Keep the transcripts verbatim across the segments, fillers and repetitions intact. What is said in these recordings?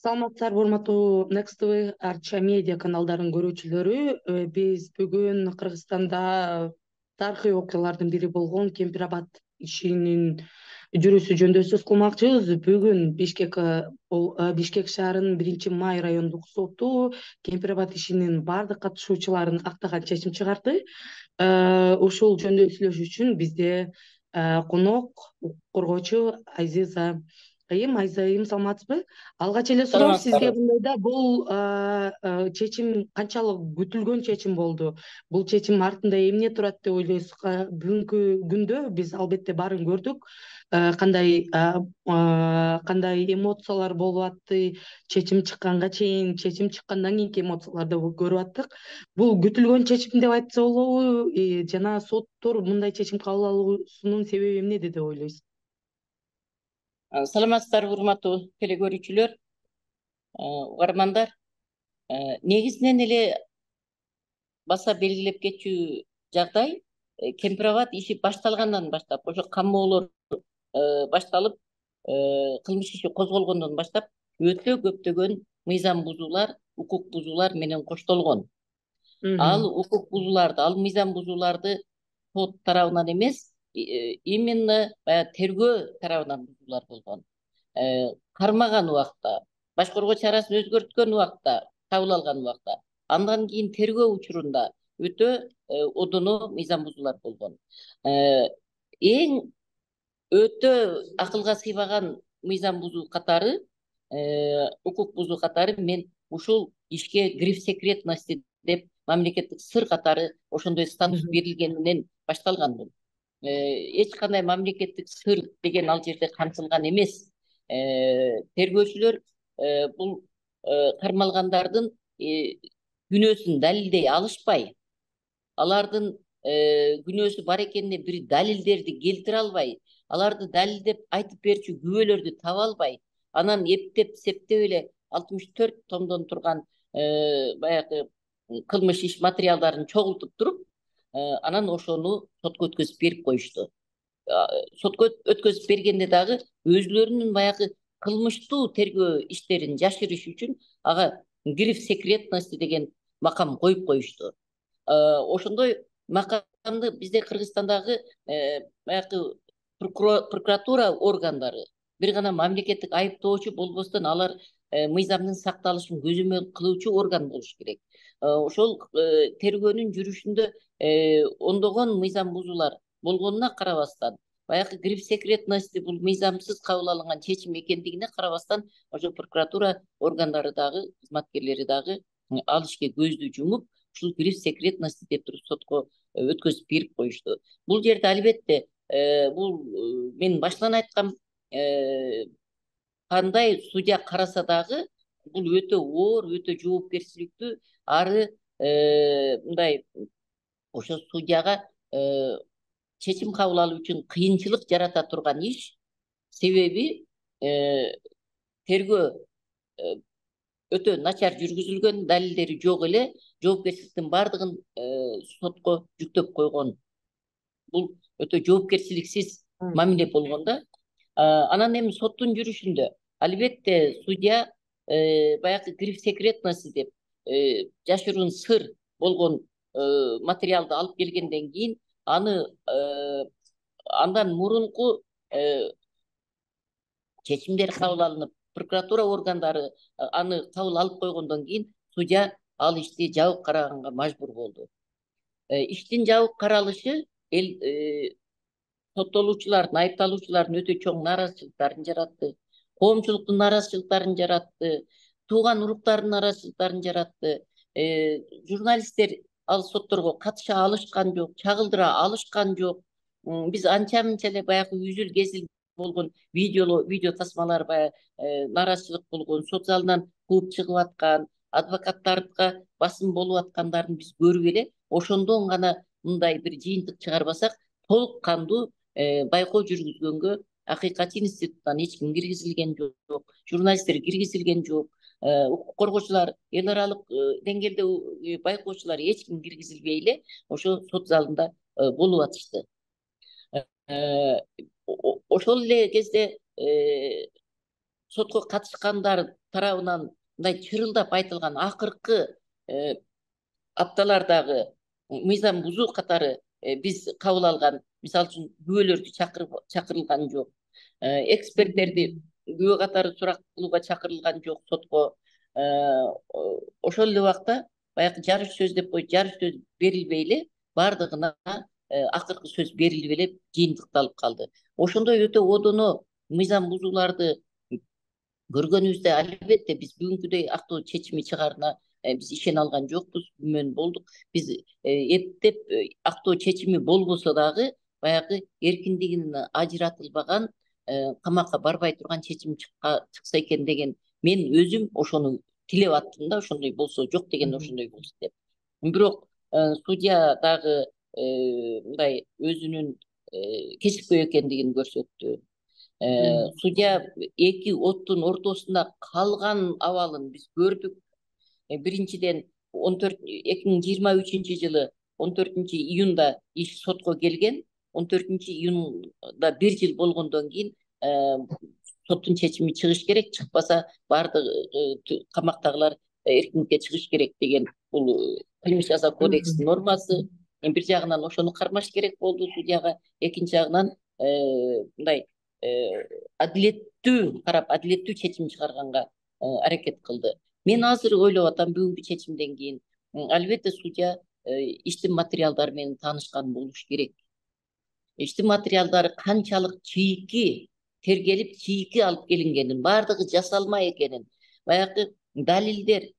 Саламатсыздарбы урматтуу Next ти ви Арча медиа каналдарынын көрүүчүлөрү. Биз бүгүн Кыргызстанда тарыхый окуялардын бири болгон Кемпир-Абад ишинин жүрүүсү жөнүндө сөз кылмакчыбыз. Бүгүн Бишкек Бишкек шаарынын биринчи май райондук соту Кемпир-Абад ишинин бардык катышуучуларын актаган чечим чыгарды. Ушул жөнүндө сүйлөшүү үчүн бизде конок укук коргоочу Айзиза Айым. Айза Айым, саламатсызбы? Алгач эле суроом сизге мындайда, бул чечим канчалык күтүлгөн чечим болду? Бул чечим артында эмне турат деп ойлойсуз? Бүгүнкү күндө биз албетте баарын көрдүк. Кандай кандай эмоциялар болуп атты, чечим чыкканга чейин, чечим чыккандан кийинки эмоцияларды көрүп аттык. Бул күтүлгөн чечим деп айтса болобу? Жана соттор мындай чечим кабыл алуусунун себеби эмнеде деп ойлойсуз? Саламатсыздарбы урматтуу теле көрүүчүлөр, угармандар. Негизинен эле баса белгилеп кетчү жагдай, Кемпир-Абад иши башталгандан баштап, ошо камоолор башталып, кылмыш иши козголгондон баштап өтө көптөгөн мыйзам бузуулар, укук бузуулар менен коштолгон. Ал укук бузууларды, ал мыйзам бузууларды сот тарабынан эмес, именно тергөө тарабынан бузуулар болгон. Кармаган убакта, баш коргоо чарасын өзгөрткөн убакта, кабыл алган убакта, андан кийин тергөө учурунда өтө одоно мыйзам бузуулар болгон. Эң өтө акылга сыйбаган мыйзам бузуу катары, укук бузуу катары мен ушул ишке гриф секретности деп мамлекеттик сыр катары ошондой статус берилгенинен башталган бул. Эч кандай мамлекеттик сыр деген ал жерде камтылган эмес. Тергөөчүлөр бул кармалгандардын күнөөсүн далилдей алышпай, алардын күнөөсү бар экенине бир далилдерди келтире албай, аларды далилдеп айтып берчү күбөлөрдү таба албай, анан эптеп септеп эле алтымыш төрт томдон турган баягы кылмыш иш материалдарын чогултуп туруп, анан ошону сотко өткөзүп берип коюшту. Сотко өткөзүп бергенде дагы өзүлөрүнүн баягы кылмыштуу тергөө иштерин жашырыш үчүн ага гриф секретности деген макам коюп коюшту. Ошондой макамды бизде Кыргызстандагы баягы прокуратура органдары, бир гана мамлекеттик айыптоочу болбостон алар мыйзамдын сакталышын көзөмөл кылуучу орган болуш керек. Ошол тергөөнүн жүрүшүндө ондогон мыйзам бузуулар болгонуна карабастан, баягы гриф секретности бул мыйзамсыз кабыл алынган чечим экендигине карабастан, ошо прокуратура органдары дагы, кызматкерлери дагы ал ишке көздү жумуп, ушул гриф секретности деп туруп сотко өткөзүп берип коюшту. Бул жерде албетте бул мен баштан айткам, кандай судья караса дагы бул өтө оор, өтө жоопкерчиликтүү, ары мындай ошо судьяга чечим кабыл алуу үчүн кыйынчылык жарата турган иш. Себеби тергөө өтө начар жүргүзүлгөн, далилдери жок эле, жоопкерчиликтин бардыгын сотко жүктөп койгон. Бул өтө жоопкерчиликсиз мамиле болгон да. Анан эми соттун жүрүшүндө албетте судья баягы гриф секретности деп жашыруун сыр болгон материалды алып келгенден кийин, аны андан мурунку чечимдер кабыл алынып, прокуратура органдары аны кабыл алып койгондон кийин судья ал ишти жабык караганга мажбур болду. Иштин жабык каралышы эл соттолуучулардын, айыпталуучулардын өтө чоң нааразычылыктарын жаратты, коомчулуктун нааразычылыктарын жаратты, тууган уруктардын нааразычылыктарын жаратты. Журналисттер ал сотторго катыша алышкан жок, чагылдыра алышкан жок. Биз анча-мынча эле баягы үзүл кезил болгон видео видео тасмалар, баягы нааразычылык болгон, сот залынан кууп чыгып аткан, адвокаттарга басым болуп аткандарын биз көрүп эле, ошондон гана мындай бир жыйынтык чыгарбасак, толук кандуу байкоо жүргүзгөнгө Акыйкат институттан эч ким киргизилген жок, журналисттер киргизилген жок, укук коргоочулар, эл аралык деңгээлде байкоочулар эч ким киргизилбей эле ошо сот залында болуп атышты. Ошол эле кезде сотко катышкандар тарабынан мындай чырылдап айтылган акыркы апталардагы мыйзам бузуу катары биз кабыл алган, мисалы үчүн күбөлөрдү чакырылган жок, эксперттерди күбө катары сурак кылууга чакырылган жок сотко. Ошол эле убакта баягы жарыш сөз деп коюп, жарыш сөз берилбей эле баардыгына акыркы сөз берилип эле жыйынтыкталып калды. Ошондой өтө одоно мыйзам бузууларды көргөнүбүздө албетте биз бүгүнкүдөй актоо чечими чыгаарына биз ишене алган жокпуз, күмөн болдук. Биз эптеп актоо чечими болбосо дагы баягы эркиндигинен ажыратылбаган, камакка барбай турган чечим чыкса экен деген мен өзүм ошону тилеп аттым да, ошондой болсо, жок деген ошондой болсун деп. Бирок судья дагы мындай өзүнүн кесипкөй экендигин көрсөттү. Судья эки оттун ортосунда калган абалын биз көрдүк. Биринчиден эки миң жыйырма үчүнчү жылы он төртүнчү июнда иш сотко келген. он төртүнчү июнда бир жыл болгондон кийин соттун чечими чыгыш керек, чыкпаса баардык камактагылар эркиндикке чыгыш керек деген бул кылмыш жаза кодексинин нормасы. Бир жагынан ошону кармаш керек болду судьяга, экинчи жагынан мындай адилеттүү карап, адилеттүү чечим чыгарганга аракет кылды. Мен азыр ойлоп атам, бүгүнкү чечимден кийин албетте судья иштин материалдары менен таанышкан болуш керек. Иштин материалдары канчалык чийки тергелип, чийки алып келингенин, баардыгы жасалма экенин, баягы далилдер,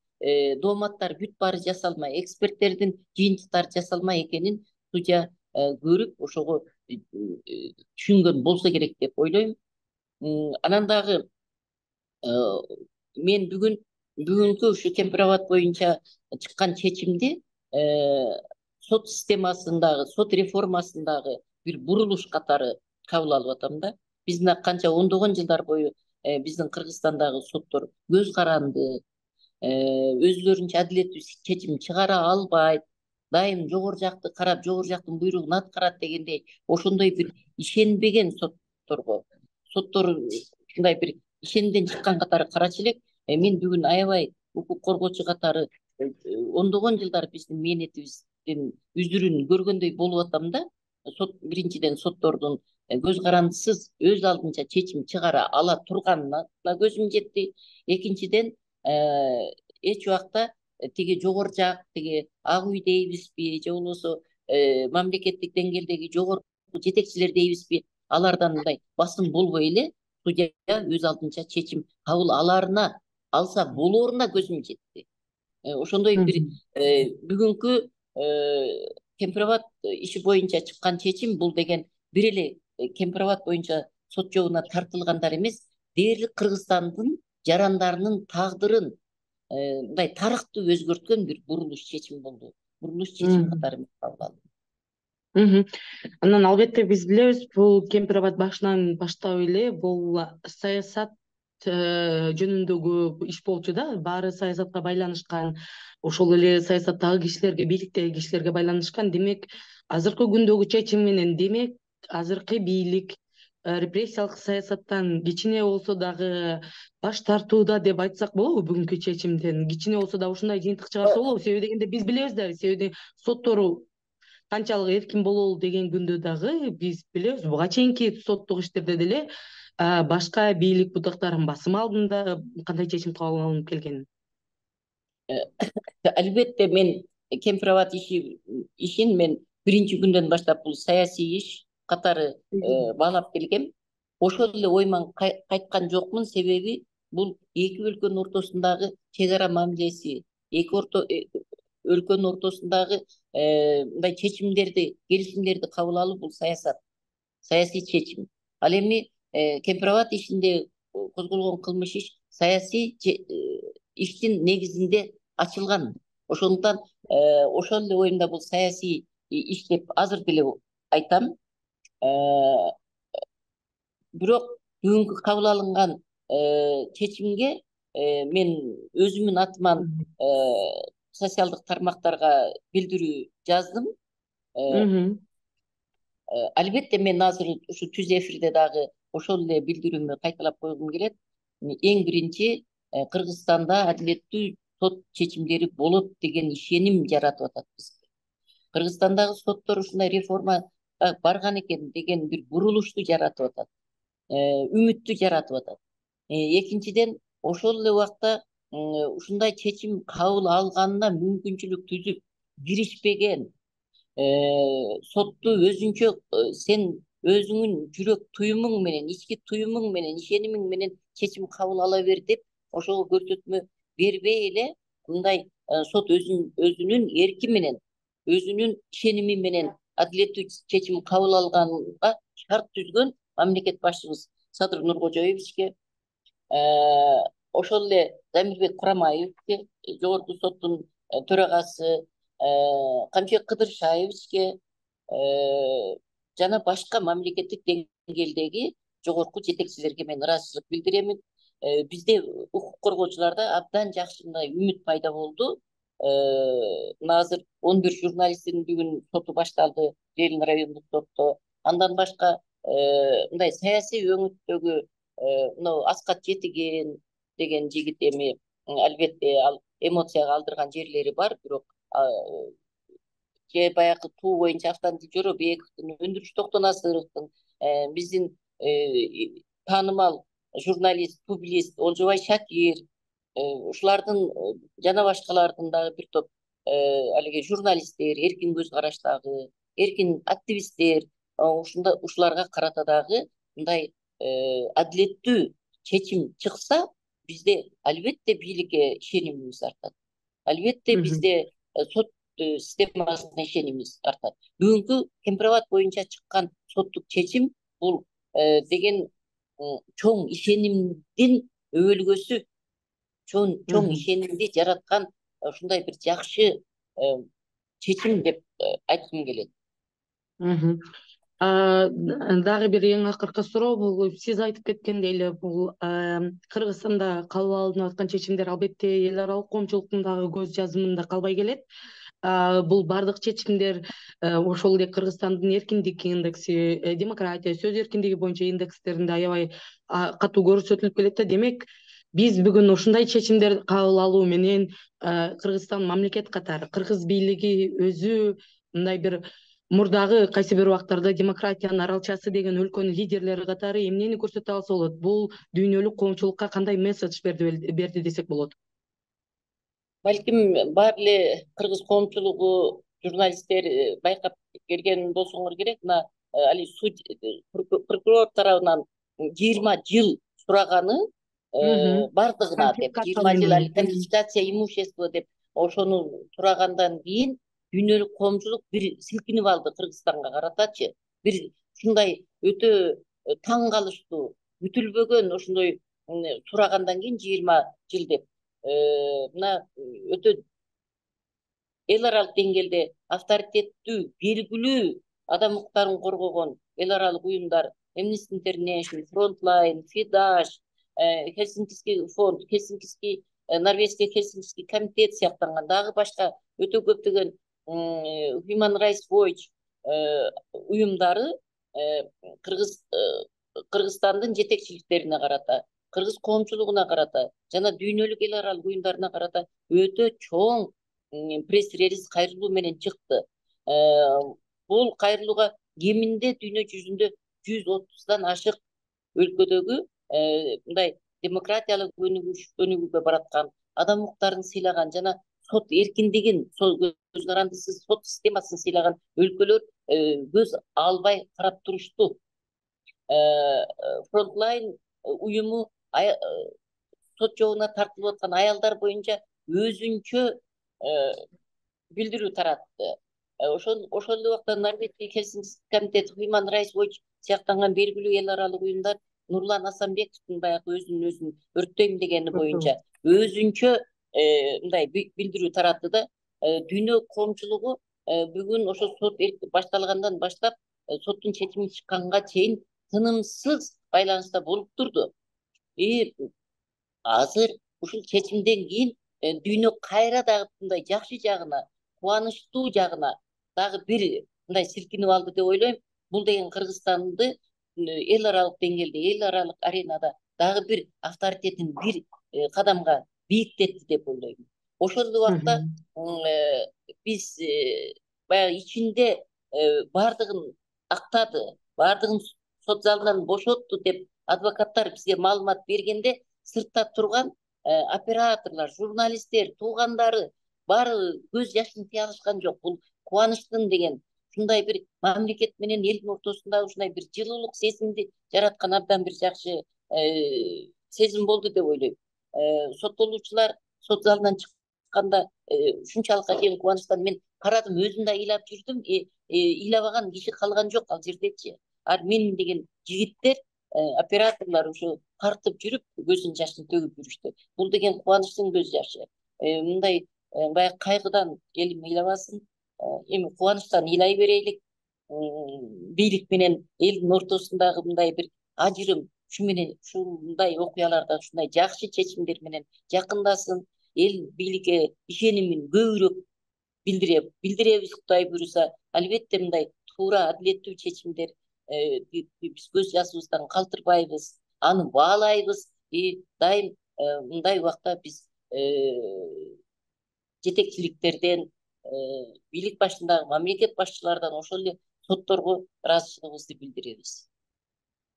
дооматтар бүт баары жасалма, эксперттердин жыйынтыктары жасалма экенин судья көрүп, ошого түшүнгөн болсо керек деп ойлойм. Анан дагы мен бүгүн бүгүнкү ушу Кемпирабад боюнча чыккан чечимди сот системасындагы, сот реформасындагы бир бурулуш катары кабыл алып атам да. Биз мына канча ондогон жылдар бою биздин Кыргызстандагы соттор көз каранды, өзүлөрүнчө адилеттүү чечим чыгара албайт, дайым жогору жакты карап, жогору жактын буйругун аткарат дегендей, ошондой бир ишенбеген сотторго, соттор ушундай бир ишенимден чыккан катары карачу элек. Мен бүгүн аябай укук коргоочу катары ондогон жылдар биздин мээнетибиздин үзүрүн көргөндөй болуп атам да. Сот биринчиден соттордун көз карандысыз өз алдынча чечим чыгара ала турганына көзүм жетти. Экинчиден эч убакта тиги жогору жак, тиги ак үй дейбизби, же болбосо мамлекеттик деңгээлдеги жогорку жетекчилер дейбизби, алардан мындай басым болбой эле судья өз алдынча чечим кабыл аларына, алса болооруна көзүм жетти. Ошондой бир бүгүнкү Кемпирабад иши боюнча чыккан чечим бул деген бир эле Кемпирабад боюнча сот жообуна тартылгандар эмес, дээрлик Кыргызстандын жарандарынын тагдырын мындай тарыхты өзгөрткөн бир бурулуш чечим болду. Бурулуш чечим катары кабыл алдым. Анан албетте биз билебиз, бул Кемпирабад башынан баштап эле бул саясат жөнүндөгү иш болчу да, баары саясатка байланышкан, ошол эле саясаттагы кишилерге, бийликтеги кишилерге байланышкан. Демек, азыркы күндөгү чечим менен, демек, азыркы бийлик репрессиялык саясаттан кичине болсо дагы баш тартууда деп айтсак болобу? Бүгүнкү чечимден кичине болсо да ушундай жыйынтык чыгарса болобу? Себеби дегенде биз билебиз да, себеби соттору канчалык эркин бололу деген күндө дагы биз билебиз, буга чейинки соттук иштерде деле башка бийлик бутактарын басым алдында кандай чечим кабыл алынып келгенин. Албетте мен Кемпирабад иши ишин мен биринчи күндөн баштап бул саясий иш катары баалап келгем. Ошол эле ойман кайткан жокмун, себеби бул эки өлкөнүн ортосундагы чек ара мамилеси, эки өлкөнүн ортосундагы мындай чечимдерди, келишимдерди кабыл алуу бул саясат, саясий чечим. Ал эми Кемпирабад ишинде козголгон кылмыш иш саясий иштин негизинде ачылган. Ошондуктан ошол эле оюмда бул саясий иш деп азыр деле айтам. Бирок бүгүнкү кабыл алынган чечимге мен өзүмдүн атыман социалдык тармактарга билдирүү жаздым. Албетте мен азыр ушу түз эфирде дагы ошол эле билдирүүмдү кайталап койгум келет. Эң биринчи Кыргызстанда адилеттүү сот чечимдери болот деген ишеним жаратып атат бизге. Кыргызстандагы соттор ушундай реформа барган экен деген бир бурулушту жаратып атат, үмүттү жаратып атат. Экинчиден, ошол эле убакта ушундай чечим кабыл алганына мүмкүнчүлүк түзүп киришпеген, сотту өзүнчө сен өзүңүн жүрөк туюмуң менен, ички туюмуң менен, ишенимиң менен чечим кабыл ала бер деп ошого көрсөтмө бербей эле мындай сот өзүнүн эрки менен, өзүнүн ишеними менен адилеттүү чечим кабыл алганга шарт түзгөн мамлекет башчыбыз Садыр Нуркожоевичке, ошол эле Замирбек Курамаевичке, жогорку соттун төрагасы Камчыбек Кыдыршаевичке жана башка мамлекеттик деңгээлдеги жогорку жетекчилерге мен ыраазычылык билдиремин. Бизде укук коргоочуларда абдан жакшы мындай үмүт пайда болду. Азыр он бир журналисттин бүгүн соту башталды Ленин райондук сотто. Андан башка мындай саясий өңүттөгү мына Аскат Жетиген деген жигит эми албетте ал эмоцияга алдырган жерлери бар, бирок же баягы туу боюнча Автандил Жоробековдун, Өндүрүш Токтонасыровдун, биздин таанымал журналист, публицист Олжобай Шакир, ушулардын жана башкалардын дагы бир топ алиги журналисттер, эркин көз караштагы, эркин активисттер, ушунда ушуларга карата дагы мындай адилеттүү чечим чыкса, бизде албетте бийликке ишенимибиз артат. Албетте бизде сот системасына ишенимибиз артат. Бүгүнкү Кемпирабад боюнча чыккан соттук чечим бул деген чоң ишенимдин өбөлгөсү, чоң чоң ишенимди жараткан ушундай бир жакшы чечим деп айткым келет. Дагы бир эң акыркы суроо, бул сиз айтып кеткендей эле бул Кыргызстанда кабыл алынып аткан чечимдер албетте эл аралык коомчулуктун дагы көз жазымында калбай келет. Бул бардык чечимдер ошол эле Кыргызстандын эркиндик индекси, демократия, сөз эркиндиги боюнча индекстеринде аябай катуу көрсөтүлүп келет да. Демек, биз бүгүн ушундай чечимдерди кабыл алуу менен Кыргызстан мамлекет катары, кыргыз бийлиги өзү мындай бир мурдагы кайсы бир убактарда демократиянын аралчасы деген өлкөнүн лидерлери катары эмнени көрсөтө алса болот? Бул дүйнөлүк коомчулукка кандай месседж берди десек болот? Балким баары эле кыргыз коомчулугу, журналисттер байкап келген болсоңор керек. Мына али прокурор тарабынан жыйырма жыл сураганы бардыгына деп, жыйырма жыл али конфискация имущества деп ошону сурагандан кийин дүйнөлүк коомчулук бир силкинип алды Кыргызстанга каратачы. Бир ушундай өтө таң калыштуу, күтүлбөгөн ошондой сурагандан кийин жыйырма жыл деп. Мына өтө эл аралык деңгээлде авторитеттүү, белгилүү адам укуктарын коргогон эл аралык уюмдар, Amnesty International, Frontline, Фидаш, Хельсинкиский фонд, Хельсинкиский, Норвежский Хельсинкиский комитет сыяктанган дагы башка өтө көптөгөн Human Rights Watch уюмдары Кыргыз Кыргызстандын жетекчиликтерине карата, кыргыз коомчулугуна карата жана дүйнөлүк эл аралык уюмдарына карата өтө чоң пресс-релиз кайрылуу менен чыкты. Бул кайрылууга кеминде дүйнө жүзүндө жүз отуздан ашык өлкөдөгү мындай демократиялык өнүгүүгө бараткан, адам укуктарын сыйлаган жана сот эркиндигин, көз карандысыз сот системасын сыйлаган өлкөлөр көз албай карап турушту. Frontline уюму сот жобуна тартылып аткан аялдар боюнча өзүнчө билдирүү таратты. Ошол ошол эле убакта Норвежский Хельсинкиский комитет, Human Rights Watch сыяктанган белгилүү эл аралык уюмдар Нурлан Асанбековдун баягы өзүнүн өзүн өрттөйм дегени боюнча өзүнчө мындай билдирүү таратты да. Дүйнө коомчулугу бүгүн ошо сот башталгандан баштап соттун чечими чыкканга чейин тынымсыз байланыста болуп турду. И азыр ушул чечимден кийин дүйнө кайра дагы мындай жакшы жагына, кубанычтуу жагына дагы бир мындай силкинип алды деп ойлойм. Бул деген Кыргызстанды эл аралык деңгээлде, эл аралык аренада дагы бир авторитетин, бир кадамга бийиктетти деп ойлойм. Ошол убакта биз баягы ичинде баардыгын актады, баардыгын сот залынан бошотту деп адвокаттар бизге маалымат бергенде, сыртта турган операторлор, журналисттер, туугандары баары көз жашын тыя алышкан жок. Бул кубанычтын деген ушундай бир мамлекет менен элдин ортосундагы ушундай бир жылуулук сезимди жараткан абдан бир жакшы сезим болду деп ойлойм. Соттолуучулар сот залынан чыкканда ушунчалык атайын кубанычтан мен карадым, өзүм да ыйлап жүрдүм. Ыйлабаган киши калган жок ал жердечи. Ал мен деген жигиттер, операторлор ушу тартып жүрүп көзүнүн жашын төгүп жүрүштү. Бул деген кубанычтын көз жашы. Мындай баягы кайгыдан элим ыйлабасын, эми кубанычтан ыйлай берейлик. Бийлик менен элдин ортосундагы мындай бир ажырым ушу менен ушундай окуяларда ушундай жакшы чечимдер менен жакындасын, эл бийликке ишенимин көбүрөөк билдире билдиребиз. Кудай буюрса, албетте мындай туура, адилеттүү чечимдер биз көз жасыбыздан калтырбайбыз, аны баалайбыз. И дайым мындай убакта биз жетекчиликтерден, бийлик башындагы мамлекет башчылардан, ошол эле сотторго ыраазычылыгыбызды билдиребиз.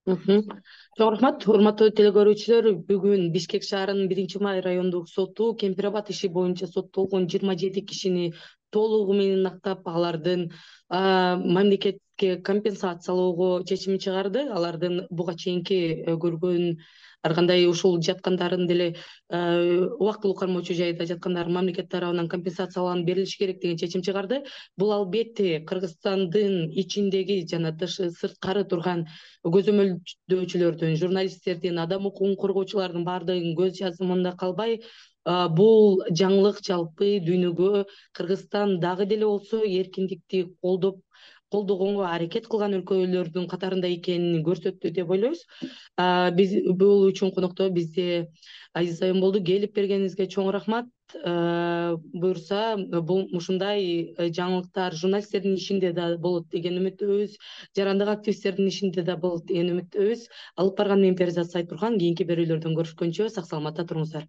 Чоң рахмат. Урматтуу телекөрүүчүлөр, бүгүн Бишкек шаарынын биринчи май райондук соту Кемпир-Абад иши боюнча соттолгон жыйырма жети кишини толугу менен актап, алардын мамлекетке компенсациялоого чечим чыгарды. Алардын буга чейинки көргөн ар кандай ушул жаткандарын деле убактылуу кармоочу жайда жаткандары мамлекет тарабынан компенсацияланып берилиши керек деген чечим чыгарды. Бул албетте Кыргызстандын ичиндеги жана тышы сырткары турган көзөмөлдөөчүлөрдүн, журналисттердин, адам укугун коргоочулардын баардыгынын көз жазымында калбай, бул жаңылык жалпы дүйнөгө Кыргызстан дагы деле болсо эркиндикти колдоп колдогонго аракет кылган өлкөлөрдүн катарында экенин көрсөттү деп ойлойбуз. Биз бул үчүн конокто бизде Азиз айым болду. Келип бергениңизге чоң рахмат. Буюрса, бул ушундай жаңылыктар журналисттердин ишинде да болот деген үмүттөбүз, жарандык активисттердин ишинде да болот деген үмүттөбүз. Алып барган мен Перизат Сайтурган. Кийинки берүүлөрдөн көрүшкөнчө сак саламатта туруңуздар.